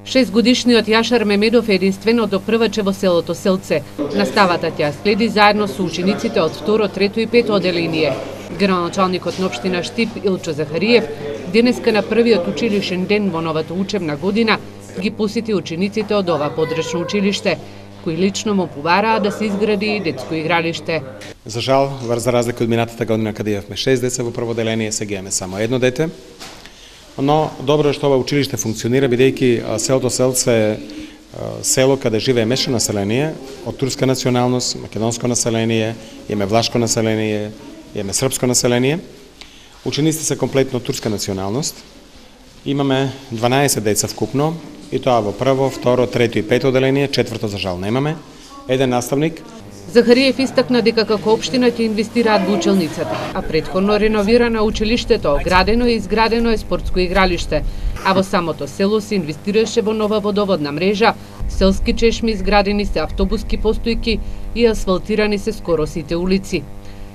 Шестгодишниот Јашар Мемедов е единственото прваче во селото Селце. Наставата тя следи заедно со учениците од 2, 3 и 5 оделение. Градоначалникот на општина Штип Илчо Захариев денеска на првиот училишен ден во новата учебна година ги посети учениците од ова подречно училиште, кои лично му побараа да се изгради детско игралиште. За жал, за разлика од минатата година каде имавме 6 деца во прво оделение, сега имаме само едно дете. Но добро е што ова училиште функционира, бидејќи селото Селце е село каде живее мешано население од турска националност, македонско население, имаме влашко население, имаме српско население. Учениците се комплетно турска националност. Имаме 12 деца вкупно, и тоа во прво, второ, трето и пето оделение, четврто за жал немаме. Еден наставник. Захариев истакна дека како општина ќе инвестираат во училницата, а претходно реновирано училиштето, градено и изградено е спортско игралиште, а во самото село се инвестираше во нова водоводна мрежа, селски чешми, изградени се автобуски постојки и асфалтирани се скоро сите улици.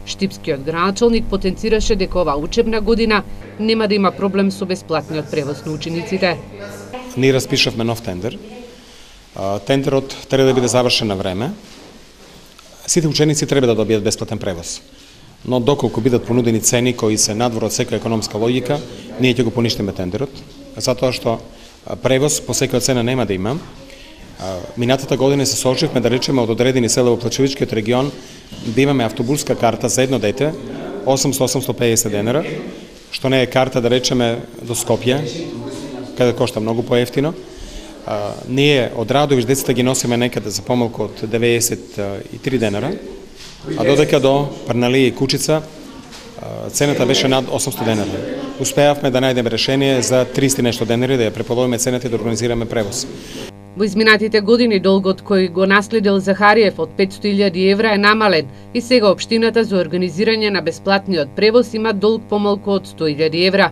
Штипскиот градоначалник потенцираше дека ова учебна година нема да има проблем со бесплатниот превоз на учениците. Ние распишавме нов тендер. Тендерот треба да биде завршен на време. Сите ученици треба да добијат бесплатен превоз. Но доколку бидат понудени цени кои се надвор од секоја економска логика, ние ќе го поништиме тендерот, затоа што превоз по секоја цена нема да има. Минатата година се соочивме да речеме од одредени села во Плачевичкиот регион да имаме автобуска карта за едно дете 800-850 денара, што не е карта да речеме до Скопје, каде кошта многу поевтино. Ние од Радовиш децата ги носиме некаде за помалку од 93 денара, а додека до Парналија и Кучица цената беше над 800 денара. Успеавме да најдеме решение за 300 нешто денари да ја преполовиме цената и да организираме превоз. Во изминатите години долгот кој го наследил Захариев од 500.000 евра е намален и сега општината за организирање на бесплатниот превоз има долг помалку од 100.000 евра.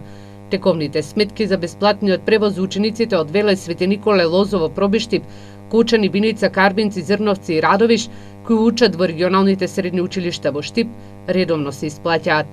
Тековните сметки за бесплатниот превоз за учениците од Велес, Свети Николе, Лозово, Пробиштип, Кучани, Биница, Карбинци, Зрновци и Радовиш, кои учат во регионалните средни училишта во Штип, редовно се исплаќаат.